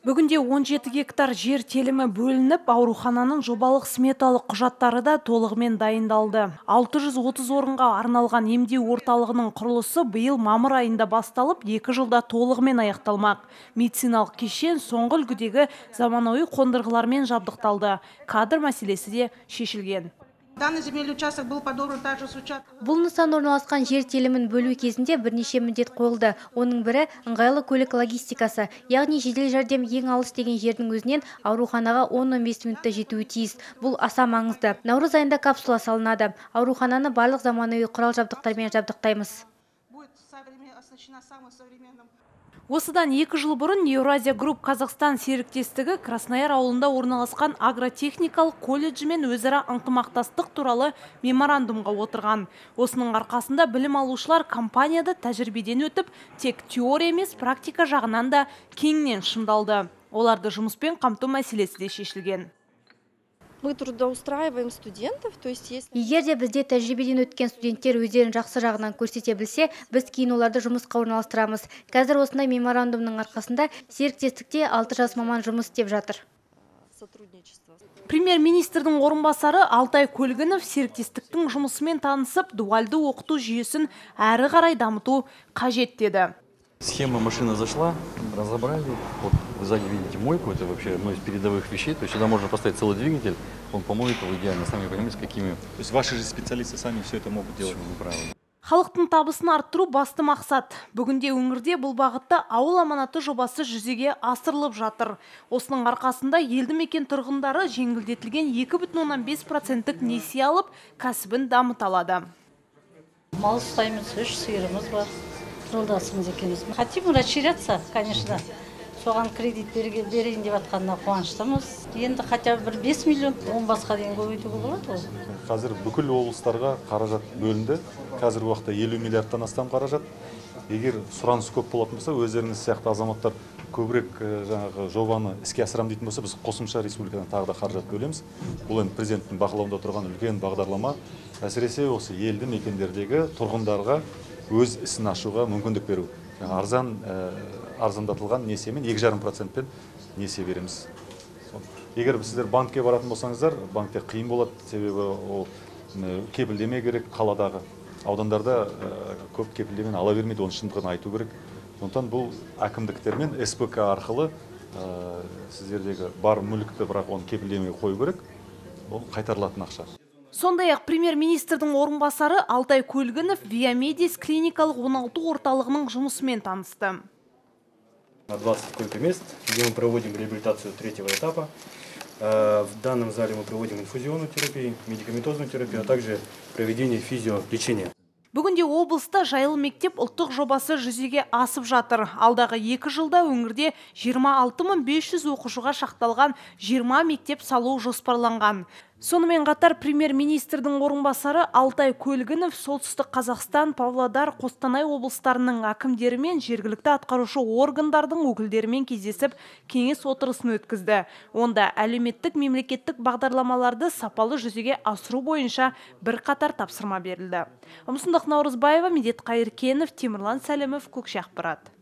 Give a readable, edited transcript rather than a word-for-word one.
Бүгінде 17 гектар жер телімі бөлініп, аурухананың жобалық сметалық құжаттары да толығымен дайындалды. 630 орынға арналған емдеу орталығының құрылысы биыл мамыр айында басталып, 2 жылда толығымен аяқталмақ. Медициналық кешен соңғы үлгідегі заманауи қондырғылармен жабдықталды. Кадр мәселесі де шешілген. Данный земельный участок был подобран также с участка. Бұл нысан орналасқан жер телімін бөлу кезінде бірнеше міндет қойылды. Оның бірі ыңғайлы көлік логистикасы, яғни жедел жәрдем ең алыс деген жердің өзінен ауруханаға 10-15 минутта жетуі тиіс. Бұл аса маңызды. Наурыз айында капсула салынады. Аурухананы барлық заманауи құрал жабдықтармен жабдықтаймыз. Будет оснащена самым современным. Осыдан 2 жыл бұрын Еуразия Групп Қазақстан серіктестігі Краснояр ауылында орналасқан агротехникалық колледжімен өзара ынтымақтастық туралы меморандумға отырған. Осының арқасында білім алушылар компанияда тәжірибеден өтіп, тек теория емес практика жағынан да кеңінен шыңдалды. Оларды жұмыспен қамту мәселесі де шешілген. Мы трудоустраиваем студентов, то есть если... Егер де бізде тәжірибеден өткен студенттер өздерін жақсы жағынан көрсете білсе, біз кейін оларды жұмысқа орналастырамыз. Қазір осындай меморандумның арқасында серіктестікте 6 жас маман жұмыс істеп жатыр. Премьер-министрдің орынбасары Алтай Көлгінов серіктестіктің жұмысымен танысып, дуальды оқыту жүйесін әрі қарай дамыту қажет деді. Схема машина зашла, разобрали. Вот вы сзади видите мойку, это вообще одно из передовых вещей. То есть сюда можно поставить целый двигатель, он помоет его идеально. Сами понимаете, с какими... То есть ваши же специалисты сами все это могут делать? Правильно. Халықтың табысын арттыру басты мақсат. Бүгінде өңірде бұл бағытта ауыл аманаты жобасы жүзеге асырылып жатыр. Осының арқасында елді мекен тұрғындары жеңілдетілген 2,5% несие алып, кәсібін дамыта алады. Мал ұстаймыз, 3 сиырымыз бар. Жолдасымыз екенбіз. Хотим расширяться, конечно. Соған кредит берейін деп атқанына қуаныштымыз. Енді хотя бы 5 миллион, 10 басқа дейін көбейтуге болады ғой. Қазір бүкіл облыстарға қаражат бөлінді. Қазіргі уақытта 50 миллиардтан астам қаражат. Егер сұраныс көп болатын болса, өздеріңіз сияқты азаматтар көбірек жаңағы жобаны іске асырам дейтін болса, біз қосымша республикадан тағы да қаражат бөлеміз. Бұл енді президенттің бақылауында тұрған үлкен бағдарлама. Әсіресе осы елді мекендердегі тұрғындарға өз ісін ашуға мүмкіндік беру. Арзандатылған несиемен 2,5%-пен несие береміз. Егер сіздер банкке баратын болсаңыздар, банкте қиын болады, себебі ол кепілдеме керек қаладағы. Аудандарда көп кепілдемен ала бермейді, оны шындығын айту керек. Сондықтан бұл әкімдіктермен СПК арқылы сіздердегі бар мүлікті бірақ оны кепілдемеге қою керек, ол қайтарылатын ақша. Сондай-ақ премьер-министрдің орынбасары Алтай Көлгінов Виамедис клиникалық оңалту орталығының жұмысымен танысты. На 20 сколько мест, где мы проводим реабилитацию 3-го этапа. В данном зале мы проводим инфузионную терапию, медикаментозную терапию, а также проведение физиолечения. Бүгінде облыста жайлы мектеп ұлттық жобасы жүзеге асып жатыр. Алдағы 2 жылда өңірде 26.500 оқушыға шақталған 20 мектеп салу жоспарланған. Сонымен қатар премьер-министрдің орынбасары Алтай Көлгінов солтүстік Қазақстан, Павлодар, Қостанай облыстарының әкімдерімен жергілікті атқарушы органдардың өкілдерімен кездесіп, кеңес отырысын өткізді. Онда әлеуметтік мемлекеттік бағдарламаларды сапалы жүзеге асыру бойынша бірқатар тапсырма берілді. Наурызбаева, Медет Қайыркенов, Темірлан Сәлімов, Көкше ақпарат.